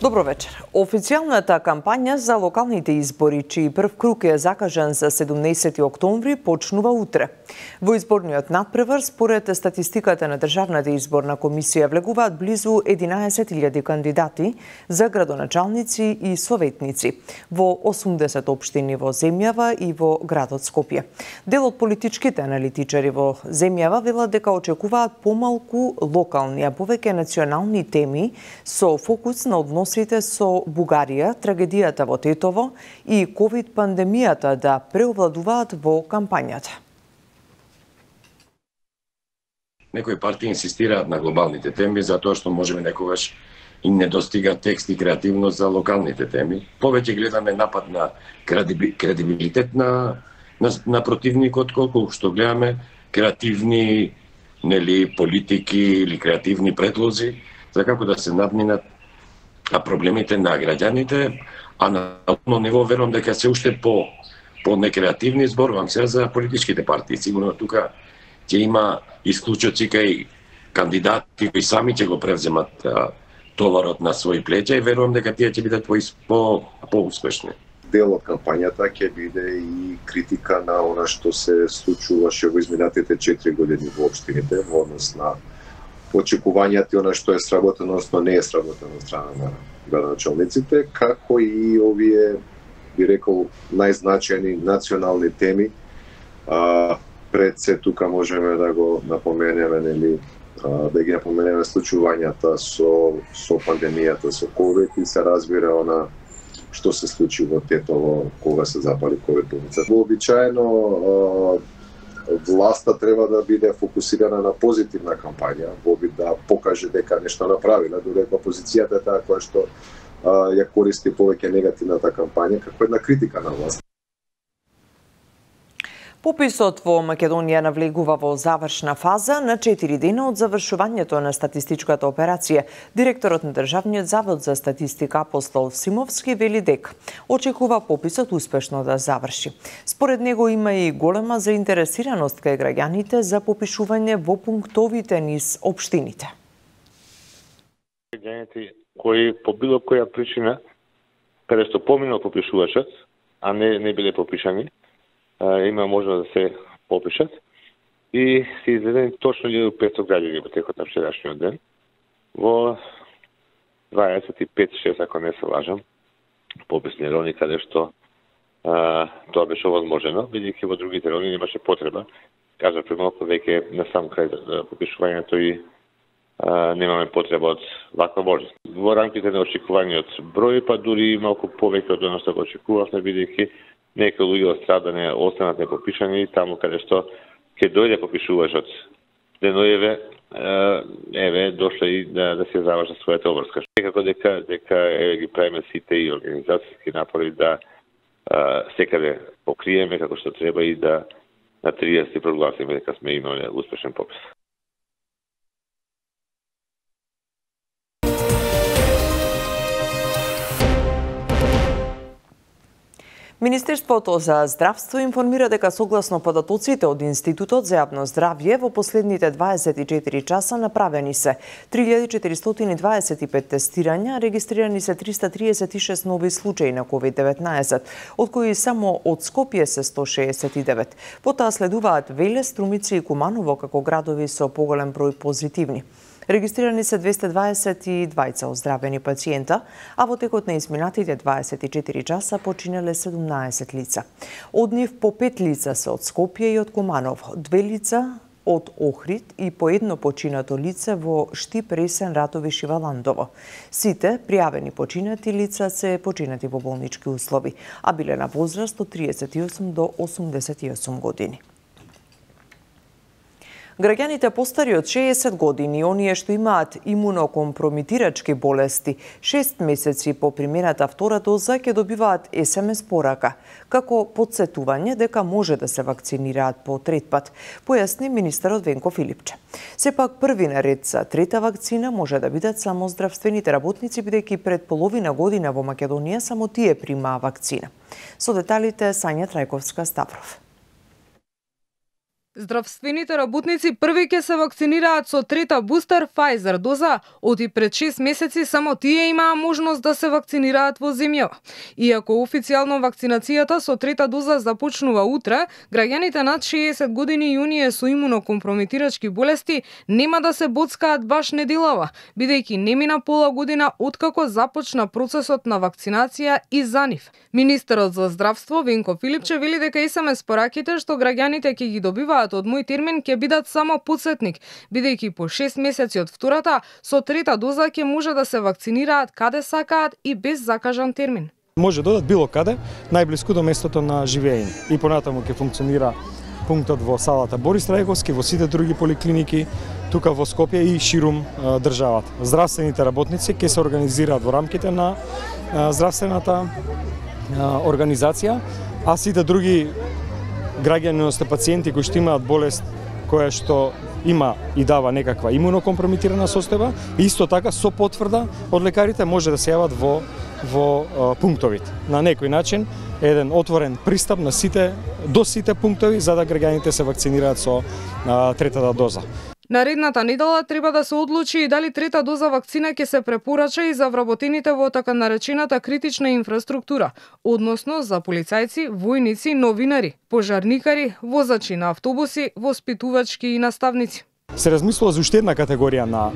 Добро вечер. Официјалната кампања за локалните избори, чиј прв круг е закажан за 17 октомври, почнува утре. Во изборниот надпревар, според статистиката на Државната изборна комисија, влегуваат близу 11.000 кандидати за градоначалници и советници во 80 општини во земјава и во градот Скопје. Дел од политичките аналитичари во земјава велат дека очекуваат помалку локални, а повеќе национални теми со фокус на односите со Бугарија, трагедијата во Тетово и ковид-пандемијата да преовладуваат во кампањата. Некои партии инсистираат на глобалните теми затоа што можеме некогаш и не достига текст и креативност за локалните теми. Повеќе гледаме напад на кредибилитет на противникот, колку што гледаме креативни политики или креативни предлози за како да се надминат проблемите на граѓаните, а на ниво верувам дека се уште по некреативни, зборувам се за политичките партии. Сигурно тука ќе има исклучоци кај кандидати кои сами ќе го превземат товарот на своји плеќа и верувам дека тие ќе бидат по-успешни. Дел од кампањата ќе биде и критика на она што се случуваше во изминатите 4 години во општините во однос на очекувањата и она што е сработено, односно не е сработено од страна на градоначалниците, како и овие, би рекол, најзначајни национални теми. Пред се тука можеме да го напоменеме, да ги напоменеме случувањата со пандемијата, со ковид и се разбира она што се случи во Тетово кога се запали ковид болница. Вообичаено власта треба да биде фокусирана на позитивна кампања, во обид да покаже дека нешто направила, додека опозицијата е таа која што ја користи повеќе негативната кампања како една критика на власт. Пописот во Македонија навлегува во завршна фаза на 4 дена од завршувањето на статистичката операција. Директорот на Државниот завод за статистика Апостол Симовски вели дека очекува пописот успешно да заврши. Според него има и голема заинтересираност кај граѓаните за попишување во пунктовите низ општините. Граѓаните кои по било која причина, каде што поминал попишувачот, а не биле попишани, има можност да се попишат и се изведени точно 1500 граѓани во текот на вчерашниот ден во 25-6, ако не се лажам, пописни райони каде што тоа беше возможено, бидејќи во другите райони немаше потреба. Кажа премалку веќе на сам крај попишувањето и немаме потреба од ваква можност. Во рамките на очекуваниот број, па дури малку повеќе од оно што го очекувавме, бидејќи некои луѓе од страдане останат непопишани таму каде што ќе дојде попишувачот деноеве, дошле и да се завршат својата обврска. Некако дека ги правиме сите и организацијски напори да секаде покриеме како што треба и да на 30 прогласиме дека сме имале успешен попис. Министерството за здравство информира дека согласно податоците од Институтот за јавно здравје во последните 24 часа направени се 3425 тестирања, регистрирани се 336 нови случаи на COVID-19, од кои само од Скопје се 169. Потоа следуваат Велес, Струмици и Куманово како градови со поголем број позитивни. Регистрирани се 222 оздравени пациента, а во текот на изминатите 24 часа починале 17 лица. Од нив по 5 лица се од Скопје и од Куманово, 2 лица од Охрид и по едно починато лице во Штип, Ресен, Ратовиш и Валандово. Сите пријавени починати лица се починати во болнички услови, а биле на возраст од 38 до 88 години. Граѓаните постари од 60 години и оние што имаат имунокомпромитирачки болести, 6 месеци по примената втора доза ќе добиваат SMS порака, како подсетување дека може да се вакцинираат по трет пат, појасни министерот Венко Филипче. Сепак први наред за трета вакцина може да бидат само здравствените работници, бидејќи пред половина година во Македонија само тие примаа вакцина. Со деталите Сања Трајковска Ставров. Здравствените работници први ќе се вакцинираат со трета бустер Pfizer доза, оти пред 6 месеци само тие имаа можност да се вакцинираат во земјава. Иако официјално вакцинацијата со трета доза започнува утре, граѓаните над 60 години и оние со имунокомпрометирачки болести нема да се боцкаат баш неделава, бидејќи не мина пола година откако започна процесот на вакцинација и за нив. Министерот за здравство Венко Филипче вели дека СМС пораките што граѓаните ќе ги добиваат од мој термин ќе бидат само подсетник, бидејќи по 6 месеци од втората, со трета доза ќе може да се вакцинираат каде сакаат и без закажан термин. Може да додат било каде, најблиску до местото на живење. И понатаму ќе функционира пунктот во салата Борис Трајковски, во сите други поликлиники, тука во Скопје и ширум државата. Здравствените работници ќе се организираат во рамките на здравствената организација, а сите други граѓани, одnosno пациенти кои што имаат болест која што има и дава некаква имунокомпрометирана состојба, исто така со потврда од лекарите може да се јават во пунктовите. На некој начин еден отворен пристап до сите пунктови за да граѓаните се вакцинираат со третата доза. Наредната недела треба да се одлучи и дали трета доза вакцина ќе се препорача и за вработените во така наречената критична инфраструктура, односно за полицајци, војници, новинари, пожарникари, возачи на автобуси, воспитувачки и наставници. Се размислува за уште една категорија на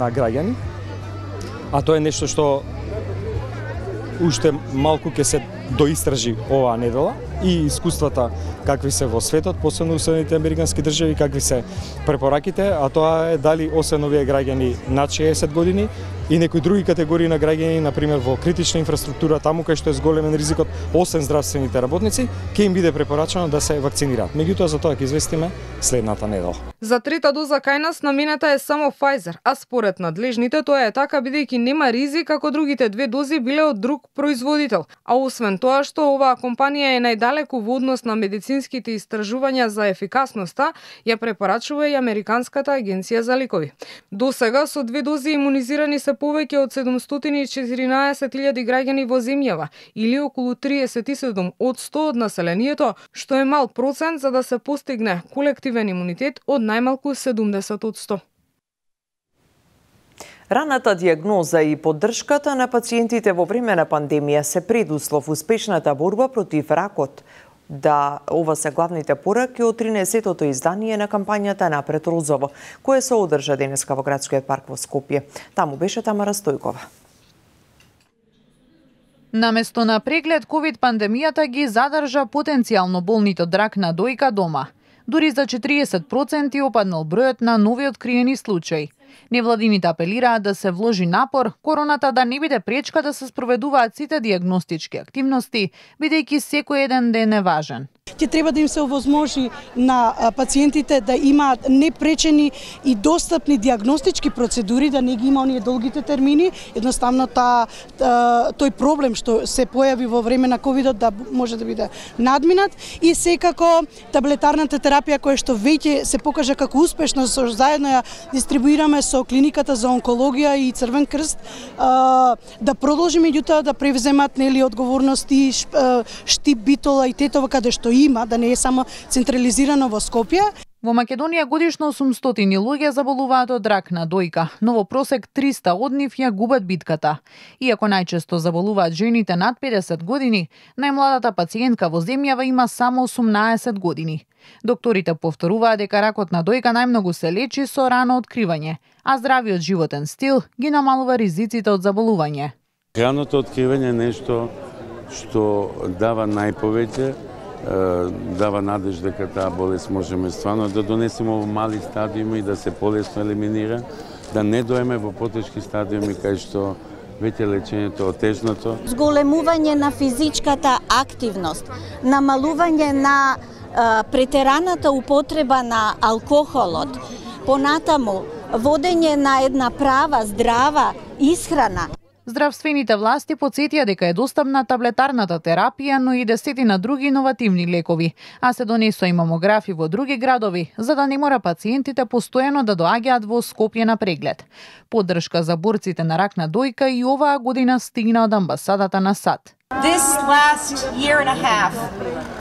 граѓани, а тоа е нешто што уште малку ќе се доистражи оваа недела и искуствата какви се во светот, посебно во Соединетите Американски држави, какви се препораките, а тоа е дали освен овие граѓани над 60 години и некои други категории на граѓани, например во критична инфраструктура, таму кај што е зголемен ризикот, освен здравствените работници, ќе им биде препорачано да се вакцинираат. Меѓутоа за тоа ќе известиме следната недела. За трета доза кај нас намената е само Pfizer, а според надлежните тоа е така бидејќи нема ризик како другите две дози биле од друг производител. А освен тоа што оваа компанија е најдалеку во однос на медицинските истражувања за ефикасноста, ја препорачува и Американската агенција за лекови. До сега со две дози имунизирани се повеќе од 714.000 граѓани во земјава, или околу 37 од 100 од населението, што е мал процент за да се постигне колективен имунитет од најмалку 70 од 100. Раната диагноза и поддршката на пациентите во време на пандемија се предуслов успешната борба против ракот. Да, ова се главните пораки од 13-тото издание на кампањата Напред Розово, кое се одржа денеска во градскиот парк во Скопје. Таму беше Тамара Стојкова. Наместо на преглед, ковид пандемијата ги задржа потенцијално болните од рак на дојка дома. Дури за 40% опаднал бројот на нови откриени случаи. Невладините апелираат да се вложи напор, короната да не биде пречка да се спроведуваат сите диагностички активности, бидејќи секој еден ден е важен. Ќе треба да им се овозможи на пациентите да имаат непречени и достапни диагностички процедури, да не ги има оние долгите термини, едноставно тој проблем што се појави во време на ковидот да може да биде надминат и секако таблетарната терапија која што веќе се покажа како успешна, со заедно ја дистрибуираме со клиниката за онкологија и Црвен крст, да продолжи меѓутоа да превземат одговорности Штип, Битола и Тетово каде што има, да не е само централизирано во Скопје. Во Македонија годишно 800 луѓе заболуваат од рак на дојка, но во просек 300 од нив ја губат битката. Иако најчесто заболуваат жените над 50 години, најмладата пациентка во земјава има само 18 години. Докторите повторуваат дека ракот на дојка најмногу се лечи со рано откривање, а здравиот животен стил ги намалува ризиците од заболување. Раното откривање е нешто што дава најповеќе, дава надеж дека таа болест можеме стварно да донесеме во мали стадиуми и да се полесно елиминира, да не доеме во потешки стадиуми кај што веќе лечењето е отежното. Зголемување на физичката активност, намалување на претераната употреба на алкохолот, понатаму водење на една права, здрава исхрана. Здравствените власти потсетија дека е достапна таблетарната терапија, но и десетина други иновативни лекови, а се донесоа и мамографи во други градови, за да не мора пациентите постојано да доаѓаат во Скопје на преглед. Поддршка за борците на рак на дојка и оваа година стигна од амбасадата на САД. This last year and a half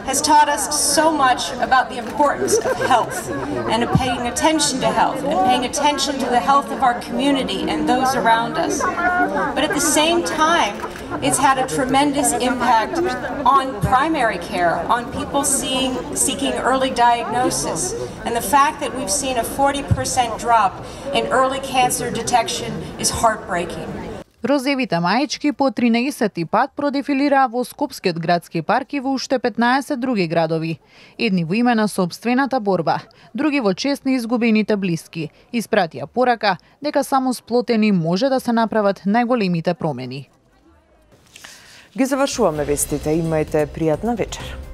has taught us so much about the importance of health and of paying attention to health and paying attention to the health of our community and those around us. But at the same time, it's had a tremendous impact on primary care, on people seeking early diagnosis. And the fact that we've seen a 40% drop in early cancer detection is heartbreaking. Розевите маечки по 13 пат продефилираа во Скопскиот градски парк и во уште 15 други градови. Едни во име на собствената борба, други во чест на изгубените блиски. Испратија порака дека само сплотени може да се направат најголемите промени. Ги завршуваме вестите. Имајте пријатна вечер.